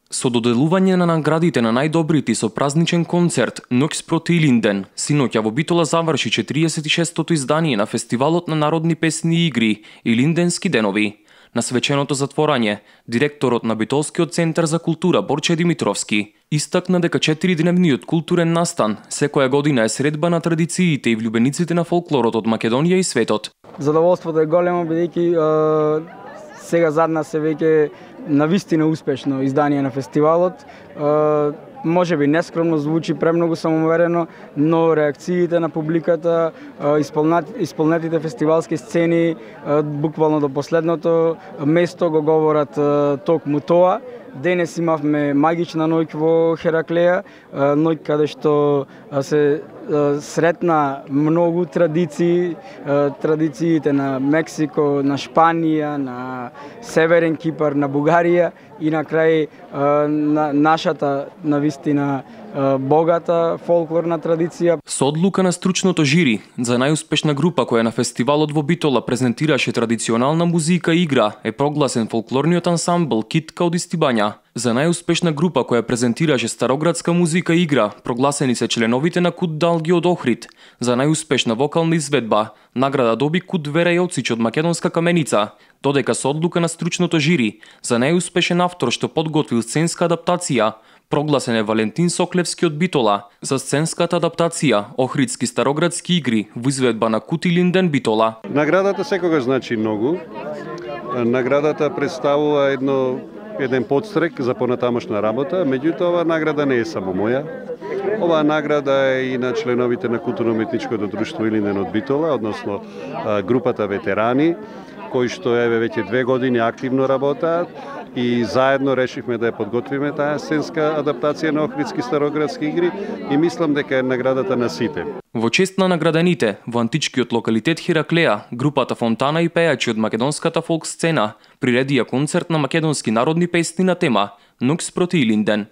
Со доделување на наградите на најдобрите со празничен концерт Ноќ спроти Илинден, синоќа во Битола заврши 46-тото издание на Фестивалот на народни песни и игри Илинденски денови. На свеченото затворање, директорот на Битолскиот центар за култура Борче Димитровски истакна дека 4-дневниот културен настан секоја година е средба на традициите и влюбениците на фолклорот од Македонија и светот. Задоволството е големо бидејќи сега зад нас е веќе навистина успешно издание на фестивалот. Може би нескромно звучи, премногу самоуверено, но реакциите на публиката, исполнетите фестивалски сцени, буквално до последното место го говорат токму тоа. Денес имавме магична ноќ во Хераклеја, ноќ каде што се сретна многу традиции, традициите на Мексико, на Шпанија, на Северен Кипар, на Бугарија и на крај на нашата навистина богата фолклорна традиција. Со одлука на стручното жири за најуспешна група која на фестивалот во Битола презентираше традиционална музика и игра е прогласен фолклорниот ансамбл Китка од Истибања. За најуспешна група која презентираше староградска музика и игра прогласени се членовите на Кут Далги од Охрид. За најуспешна вокална изведба награда доби Кут Вера Јоцич од Македонска Каменица, додека со одлука на стручното жири за најуспешен автор што подготвил сценска адаптација прогласен е Валентин Соклевски од Битола за сценската адаптација Охридски староградски игри во изведба на Кут Илинден Битола. Наградата секогаш значи многу. Наградата представува еден подстрек за понатамошна работа, меѓутоа оваа награда не е само моја. Оваа награда е и на членовите на културно-уметничкото друштво Илинден од Битола, односно групата ветерани, кои што веќе 2 години активно работаат и заедно решивме да ја подготвиме таа сценска адаптација на Охридски староградски игри и мислам дека е наградата на сите. Во чест на наградените во античкиот локалитет Хераклеја, групата Фонтана и пејачи од македонската фолк сцена приредија концерт на македонски народни песни на тема Ноќ спроти Илинден.